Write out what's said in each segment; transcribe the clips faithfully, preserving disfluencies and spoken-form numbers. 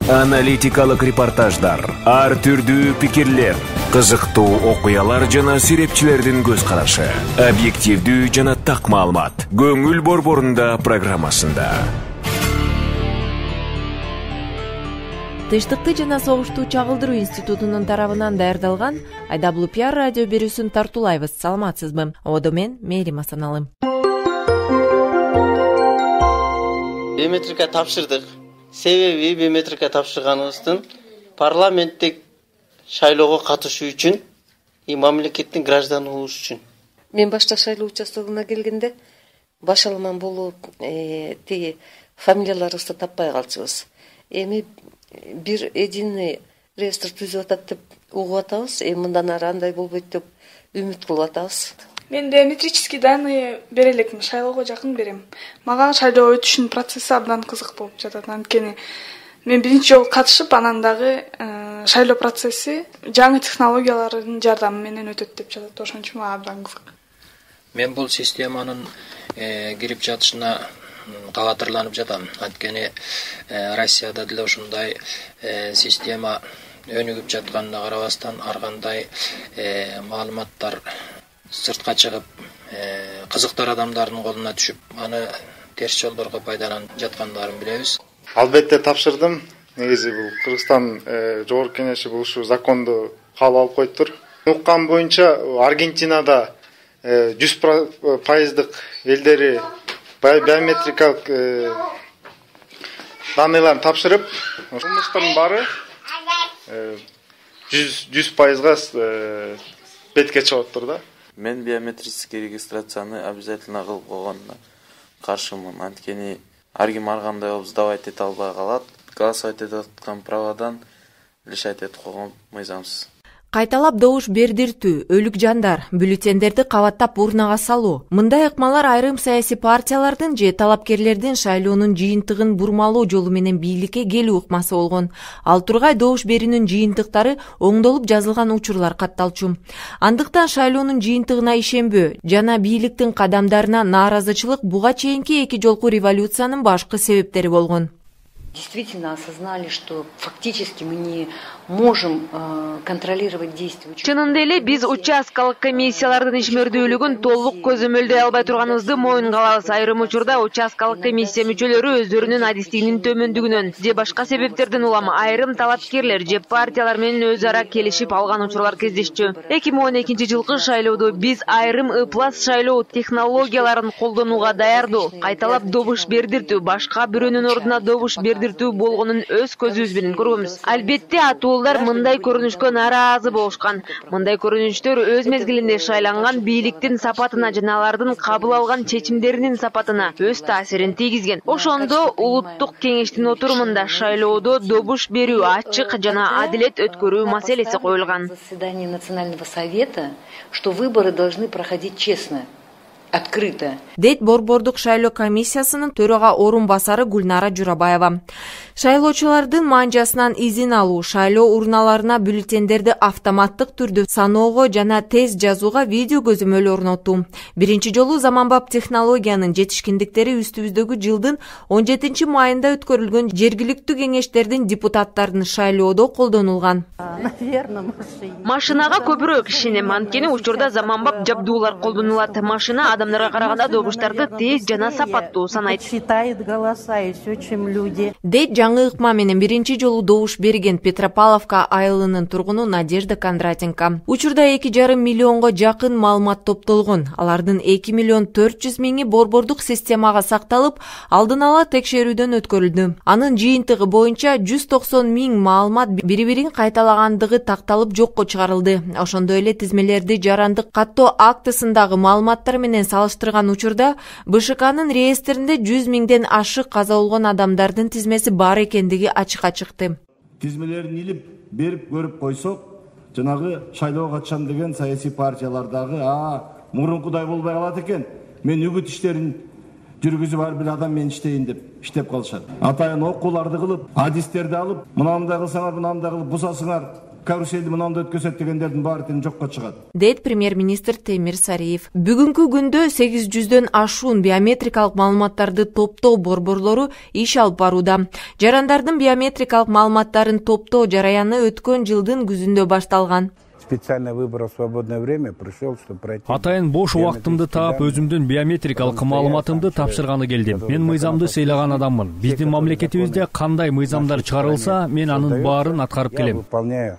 Аналитикалык репортаждар, ар түрдүү пикирлер, кызыктуу окуялар жана серепчилердин көз карашы. Объективдүү жана так маалымат. Көңүл борборунда программасында. Тынчтыкты жана согушту чагылдыруу институтунун тарабынан даярдалган Айдаблу пиар радио берүүсүн тартуулайбыз. Саламатсызбы? Одо мен Мээрим Асаналым. Биометрика тапшырдык. Себеби биометрика тапшырганыбыздын парламенттик шайлоого катышуу үчүн, и мамлекеттин гражданы болуш үчүн. Мен башта шайлоо участогуна келгенде баш аламан болуп, тиги фамилияларыбызды таппай калчубуз. Эми бир единый реестр түзүп атат деп угуп атабыз. Эми мындан ары андай болбойт деп үмүт кылып атабыз. Мен биометрический данные бере элекмин, шайлоого жакын берем. Мага шайлоо өтүшүнүн процесси абдан кызык болуп жатат. Анткени мен биринчи жолу катышып, анан дагы шайлоо процесси жаңы технологиялардын жардамы менен өтөт деп жатат. Ошон үчүн мага абдан кызык. Мен бул системанын кирип жатышына кабатырланып жатам. Анткени Россияда деле ушундай система өнүгүп жатканына карабастан, ар кандай маалыматтар сыртка чыгып, кызыктар адамдардын колуна түшүп, аны терс жолдорго пайдаланып жаткандарын билебиз. Албетте тапшырдым. Негизи бул Кыргызстан Жогорку Кеңеши бул ушу законду кабыл алып коюптур. Уккан боюнча Аргентинада жүз пайыздык элдери биометрикалык данныйларын тапшырып, кылмыштардын баары жүз пайызга бетке чыгыптыр да. Мен биометрический регистрацияны обязательно кылып койгонуна каршымын. Анткени ар ким ар кандай болуп сдавать эте албай калат. Голосовать этип аткан правадан лишать этип койгон мыйзамсыз. Кайталап добуш бердиртүү, өлүк жандар, бюллетендерди кабаттап урнага салуу. Мындай ыкмалар айрым саясий партиялардын же талапкерлердин шайлоонун жыйынтыгын бурмалоо жолу менен бийликке келүү ыкмасы болгон. Ал тургай добуш берүүнүн жыйынтыктары оңдолуп жазылган учурлар катталчу. Андыктан шайлоонун жыйынтыгына ишенбөө жана бийликтин кадамдарына нааразычылык буга чейинки эки жолку революциянын башкы себептери болгон. Действительно осознали, что фактически мы не можем э, контролировать действия. Чынында эле биз участкалык комиссиялардын ишмердүүлүгүн толук көзөмөлдөй албай турганыбызды моюнга алабыз. Айрым учурда участкалык комиссия мүчөлөрү өздөрүнүн адистигинин төмөндүгүнөн же башка себептерден улам айрым талапкерлер же партиялар менен өз ара келишип алган учурлар кездешчү. эки миң он экинчи жылкы шайлоодо биз айрым ыплас шайлоо технологияларын колдонууга даярдуу. Кайталап добуш бердиртүү, башка бирөөнүн ордуна добуш бердиртүү болгонун өз көзүбүз менен көргөнбүз. Албетте атуулар мындай көрүнүшкө нааразы болушкан. Мындай көрүнүштөр өз мезгилинде шайланган бийликтин сапатына жана алардын кабыл алган чечимдеринин сапатына өз таасирин тийгизген. Ошондо улуттук кеңештин отурумунда шайлоодо добуш берүү, ачык жана адилет өткөрүү маселеси коюлган. Заседание Национального совета, что выборы должны проходить честно. Открыто. Дейт Борбордук шайлоо комиссиясынын төрага орун басары Гүлнара Журабаева. Шайлоочулардын манжасынан изин алуу, шайлоо урналарына бюллетендерди автоматтык түрдө саноого жана тез жазууга видео көзөмөл орнотуу. Биринчи жолу заманбап технологиянын жетишкиндиктери үстүбүздөгү жылдын он жетинчи майында өткөрүлгөн жергиликтүү кеңештердин депутаттарын шайлоодо колдонулган. Машинага көбүрөөк ишенем, анткени учурда заманбап жабдуулар колдонулат. Машина адамдарга караганда добуштарды тез жана сапаттуу санайт. Дейт жаңы ыкма менен биринчи жолу добуш берген Петропавловка айылынын тургуну Надежда Кондратенко. Учурда эки жарым миллионго жакын маалымат топтолгон. Алардын эки миллион төрт жүз миңи борбордук системага сакталып, алдын ала текшерүүдөн өткөрүлдү. Анын жыйынтыгы боюнча жүз токсон миң маалымат бири-бирин кайталагандыгы такталып жокко чыгарылды. Ошондой эле тизмелерди жарандык каттоо актысындагы маалыматтар менен салыштырган учурда Б Ш К'нын реестринде жүз миңден ашык каза болгон адамдардын тизмеси бар экендиги ачыкка чыкты. Тизмелерин илип берип көрүп койсок, жанагы шайлоого катышам деген саясий партиялардагы а мурункудай болбой калат экен. Мен үгүт иштерин жүргүзүп ар бир адам менен иштейин деп иштеп калышат. Атайын окууларды кылып, адистерди алып, мынандай кылсаңар, мынандай кылып бусасыңар, каруселди мынандай өткөзөт дегендердин баары тең жокко чыгат, дейт премьер-министр Темир Сариев. Бүгүнкү күндө сегиз жүздөн ашуун биометрикалык маалыматтарды топтоо борборлору иш алып барууда. Жарандардын биометрикалык маалыматтарын топтоо жараяны өткөн жылдын күзүндө башталган. Специально выбрал свободное время, пришел, чтобы пройти. Атайын бош убактымды таап, өзүмдүн биометрикалык маалыматымды тапшырганы келдим. Мен мыйзамды сыйлаган адаммын. Биздин мамлекетибизде кандай мыйзамдар чыгарылса, мен анын баарын аткарып келем. Выполняю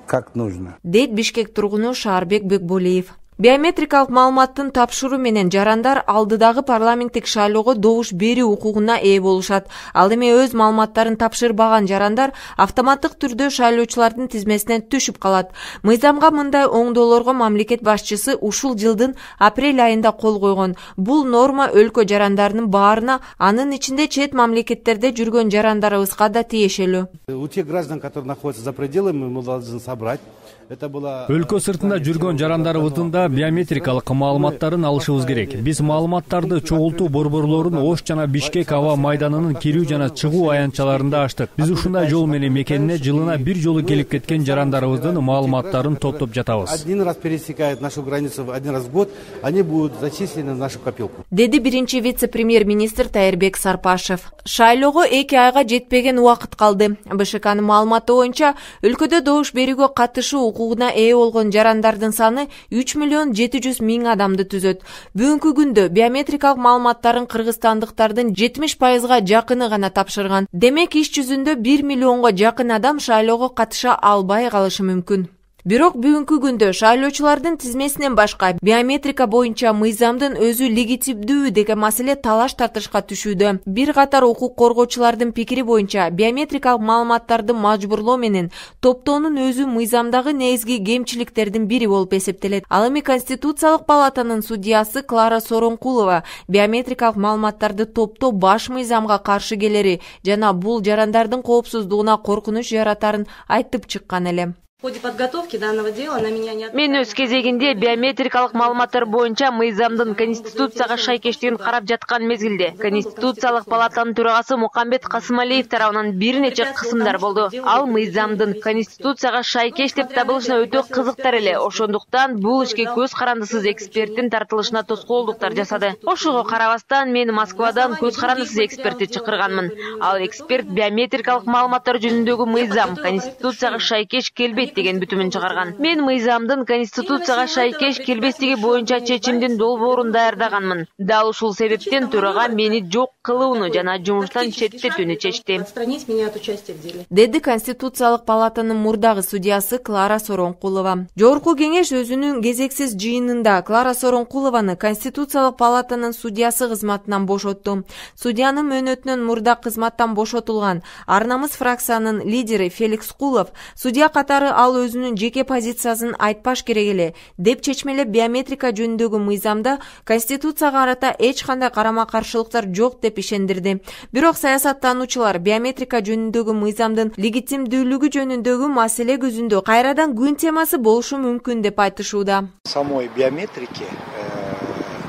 как нужно. Дейт Бишкек тургуну Шаарбек Бекболиев. Биометрикалык маалыматтын тапшыруу менен жарандар алдыдагы парламенттик шайлоого добуш берүү укугуна ээ болушат. Ал эми өз маалыматтарын тапшырбаган жарандар автоматтык түрдө шайлоочулардын тизмесинен түшүп калат. Мыйзамга мындай оңдоолорго мамлекет башчысы ушул жылдын апрель айында кол койгон. Бул норма өлкө жарандарынын баарына, анын ичинде чет мамлекеттерде жүргөн жарандарыбызга да тиешелүү. У тех граждан, которые находятся за пределами, мы должны собрать. Өлкө сыртында жүргөн жарандарыбыздын да биометрикалык маалыматтарын алышыбыз керек. Биз маалыматтарды чогултуу борборлорун Ош жана Бишкек аба майданынын кирүү жана чыгуу аянтчаларында ачтык. Биз ушундай жол менен мекенине жылына бир жолу келип кеткен жарандарыбыздын маалыматтарын топтоп жатабыз. Один раз пересекают нашу границу один раз в год, они будут зачислены в нашу копилку. Деди биринчи вице-премьер-министр Тайырбек Сарпашев. Шайлоого эки айга жетпеген убакыт калды. БШКнын маалыматы боюнча, өлкөдө добуш берүүгө катышуу укугуна ээ болгон жарандардын саны үч миллион жети жүз миң адамды түзөт. Бүгүнкү күндө биометрикалык маалыматтарын кыргызстандыктардын жетимиш пайызга жакыны гана тапшырган. Демек иш жүзүндө бир миллионго жакын адам шайлоого катыша албай калышы мүмкүн. Бирок бүгүнкү күндө шайлоочулардын тизмесинен башка биометрика боюнча мыйзамдын өзү легитимдүү деген маселе талаш тартышка түшүүдө. Бир катар укук коргоочулардын пикири боюнча биометрикалык маалыматтарды мажбурлоо менен топтоонун өзү мыйзамдагы негизги кемчиликтердин бири болуп эсептелет. Ал эми Конституциялык палатанын судьясы Клара Сооронкулова биометрикалык маалыматтарды топтоо баш мыйзамга каршы келери жана бул жарандардын коопсуздугуна коркунуч жаратарын айтып чыккан эле. В ходе подготовки данного дела на меня не... Мен өз кезегинде биометрикалык маалыматтар боюнча мыйзамдын Конституцияга шайкештигин карап жаткан мезгилде Конституциялык палатанын төрагасы Мукамбет Касымалиев тарабынан бир нече кысымдар болду. Ал мыйзамдын Конституцияга шайкеш деп табылышына өтө кызыктар эле. Ошондуктан бул ишке көз карандысыз эксперттин тартылышына тоскоолдуктар жасады. Ошого карабастан мен Москвадан көз карандысыз экспертти чакырганмын. Ал эксперт биометрикалык маалыматтар жөнүндөгү мыйзам Конституцияга шайкеш келбейт деген бүтүмүн чыгарган. Мен мыйзамдын Конституцияга шайкеш келбестиги боюнча чечимдин долбоорун даярдаганмын. Дал ушул себептен төрага мени жок кылууну жана жумуштан четтетүүнү чечти. Отстранить меня от участия в деле. Деди Конституциялык палатанын мурдагы судьясы Клара Сооронкулова. Жогорку кеңеш өзүнүн кезексиз жыйынында Клара Сооронкулованы Конституциялык палатанын судьясы кызматынан бошотту. Судьянын мөөнөтүнөн мурда кызматтан бошотулган Ар намыс фракциянын лидери Феликс Кулов судья катары ал өзүнүн жеке позициясын айтпаш керек эле деп чечмелеп биометрика жөнүндөгү мыйзамда Конституцияга карата эч кандай карама-каршылыктар жок деп ишендирди. Бирок саясаттануучулар биометрика жөнүндөгү мыйзамдын легитимдүүлүгү жөнүндөгү маселе көзүндө кайрадан күн темасы болушу мүмкүн деп айтышууда. Самой биометрики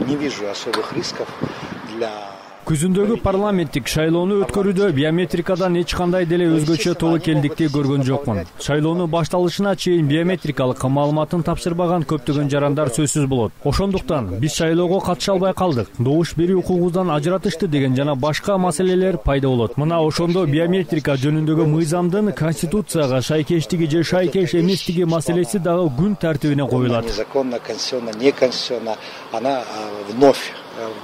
не вижу особых рисков для Күзүндөгү парламенттик шайлоону өткөрүүдө биометрикадан эч кандай деле өзгөчө тобокелдикти көргөн жокмун. Шайлоонун башталышына чейин биометрикалык маалыматын тапшырбаган көптөгөн жарандар сөзсүз болот. Ошондуктан биз шайлоого катыша албай калдык, добуш берүү укугубуздан ажыратышты деген жана башка маселелер пайда болот. Мына ошондо биометрика жөнүндөгү мыйзамдын Конституцияга шайкештиги же шайкеш эместиги маселеси дагы күн тартибине коюлат. Незаконно, конституционно, неконституционно, она вновь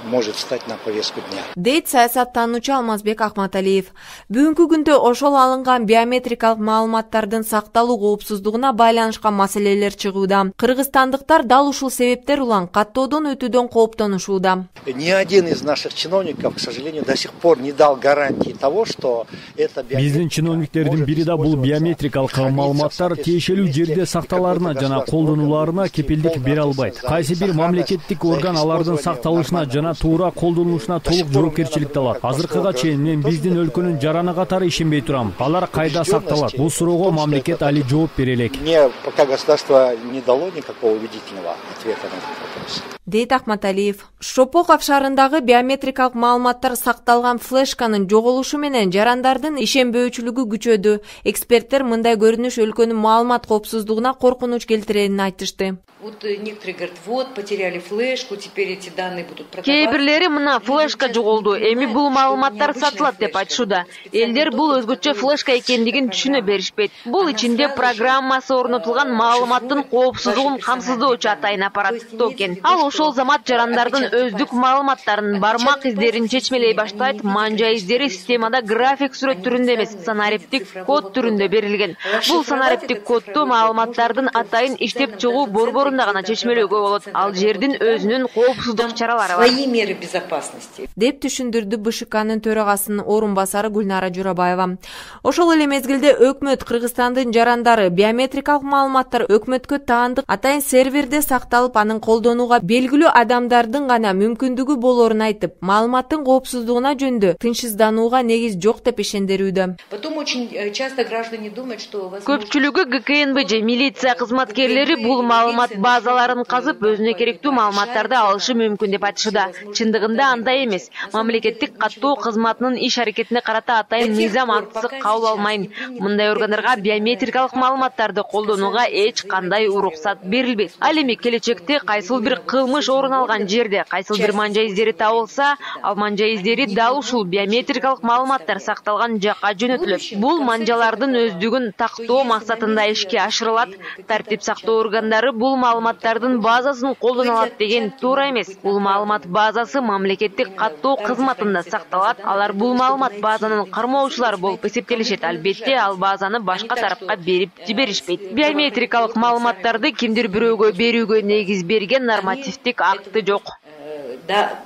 может встать на повестку дня. Дейт саясаттануучу Алмазбек Акматалиев. Бүгүнкү күндө ошол алынган биометрикалык маалыматтардын сакталуу коопсуздугуна байланышкан маселелер чыгууда. Кыргызстандыктар дал ушул себептер улан каттоодон өтүүдөн кооптонушууда. Ни один из наших чиновников, к сожалению, до сих пор не дал гарантии того, что это биздин чиновниктердин бири да бул биометрикалык маалыматтар тиешелүү жерде сакталаарына жана колдонуларына кепилдик бере албайт. Кайсы бир мамлекеттик орган алардын сакталышына жана жана туура колдонулушуна толук жоопкерчиликти алат. Азыркыга чейин мен биздин өлкөнүн жараны катары ишенбей турам. Алар кайда сакталат? Бул суроого мамлекет али жооп бере элек. Мне пока государство не дало никакого убедительного ответа на этот вопрос. Дейт Ахматалиев. Шопоков шаарындагы биометрикалык маалыматтар сакталган флешканын жоголушу менен жарандардын ишенбөөчүлүгү күчөдү. Эксперттер мындай көрүнүш өлкөнүн маалымат коопсуздугуна коркунуч келтиренин айтышты. Вот некоторые говорят, вот потеряли флешку, теперь эти данные будут продаваться. Кээ бирлери мына флешка жоголду, эми бул маалыматтар сатылат деп айтышууда. Элдер бул өзгөчө флешка экендигин түшүнө беришпейт. Бул ичинде программасы орнотулган маалыматтын коопсуздугун камсыздоочу атайын аппараттуу экен. Ал ошол замат жарандардын өздүк маалыматтарын, бармак издерин чечмелей баштайт. Манжа издери системада график сүрөт түрүндө эмес, санариптик код түрүндө берилген. Бул санариптик кодду маалыматтардын атайын иштеп чыгуу борбору гана чечмелөөгө болот. Ал жердин өзүнүн коопсуздук чаралары бар. Свои меры безопасности. Деп түшүндүрдү БШКнын төрагасынын орун басары Гүлнара Журабаева. Ошол эле мезгилде өкмөт Кыргызстандын жарандары биометрикалык маалыматтар өкмөткө таандык атайын серверде сакталып, анын колдонууга белгилүү адамдардын гана мүмкүндүгү болорун айтып, маалыматтын коопсуздугуна жөнүндө тынчсызданууга негиз жок деп ишендирүүдө. Потом очень часто граждане думают, что көпчүлүгү ГКНБЖ милиция кызматкерлери бул маалымат базаларын казып, өзүнө керектүү маалыматтарды алышы мүмкүн деп айтышууда. Чындыгында андай эмес. Мамлекеттик каттоо кызматынын иш аракетине карата атайын мыйзам актысы кабыл алмайм. Мындай органдарга биометрикалык маалыматтарды колдонууга эч кандай уруксат берилбейт. Ал эми келечекте кайсыл бир кылмыш орун алган жерде кайсыл бир манжа издери табылса, ал манжа издери дал ушул биометрикалык маалыматтар сакталган жакка жөнөтүлөт. Бул манжалардын өздүгүн тактоо максатында ишке ашырылат. Тартип сактоо органдары бул маалыматтардын базасын колдоно алат деген туура эмес. Бул маалымат базасы мамлекеттик каттоо кызматында сакталат. Алар бул маалымат базанын кармоочулары болуп эсептелишет. Албетте, ал базаны башка тарапка берип жиберишпейт. Биометрикалык маалыматтарды кимдир бирөөгө берүүгө негиз берген нормативдик акты жок.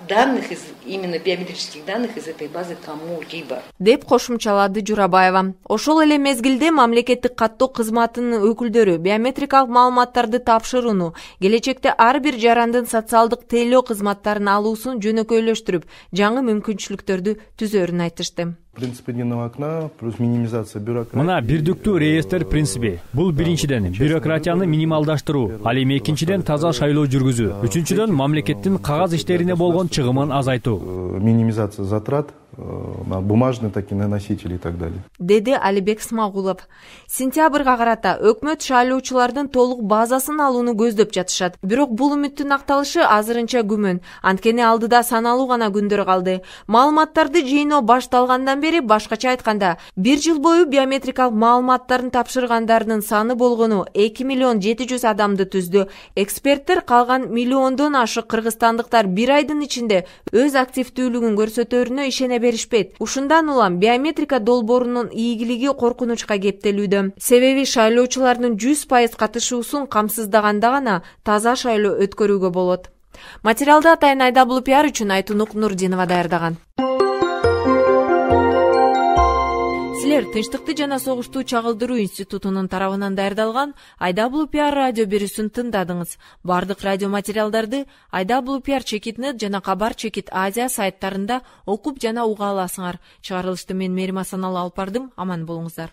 Данных из именно биометрических данных из этой базы кому-либо. Деп кошумчалады Журабаева. Ошол эле мезгилде мамлекеттик каттоо кызматынын өкүлдөрү биометрикалык маалыматтарды тапшырууну, келечекте ар бир жарандын социалдык тейлөө кызматтарын алуусун жөнөкөйлөштүрүп, жаңы мүмкүнчүлүктөрдү түзөрүн айтышты. Принцип единого окна плюс минимизация бюрократии. Мына бирдиктүү реестр принципи. Бул биринчиден бюрократияны минималдаштыруу, ал эми экинчиден таза шайлоо жүргүзүү, үчүнчүдөн мамлекеттин кагаз иштерине болгон чыгымын азайтуу. Минимизация затрат на бумажные такие носители и так далее. Деди Алибек Смагулов. Сентябрга карата өкмөт шайлоочулардын толук базасын алууну көздөп жатышат. Бирок бул үмүттүн акталышы азырынча күмөн. Анткени алдыда саналуу гана күндөр калды. Маалыматтарды жыйноо башталгандан бери, башкача айтканда, бир жыл бою биометрикалык маалыматтарын тапшыргандардын саны болгону эки миллион жети жүз адамды түздү. Эксперттер калган миллиондон ашык кыргызстандыктар бир айдын ичинде өз активдүүлүгүн көрсөтөрүнө ишене беришпейт. Ушундан улам биометрика долбоорунун ийгилиги коркунучка кептелүүдө. Себеби шайлоочулардын жүз пайыз катышуусун камсыздаганда гана таза шайлоо өткөрүүгө болот. Материалды атайын Айдабул пиар үчүн Айтунук Нурдинова даярдаган. Силер Тынчтыкты жана согушту чагылдыруу институтунун тарабынан даярдалган Айдабул пиар радио берүүсүн тыңдадыңыз. Бардык радио материалдарды Айдабул пиар чекит нет жана Кабар чекит Азия сайттарында окуп жана уга аласыңар. Чыгарылышты мен Мерим Асаналы алып бардым. Аман болуңуздар.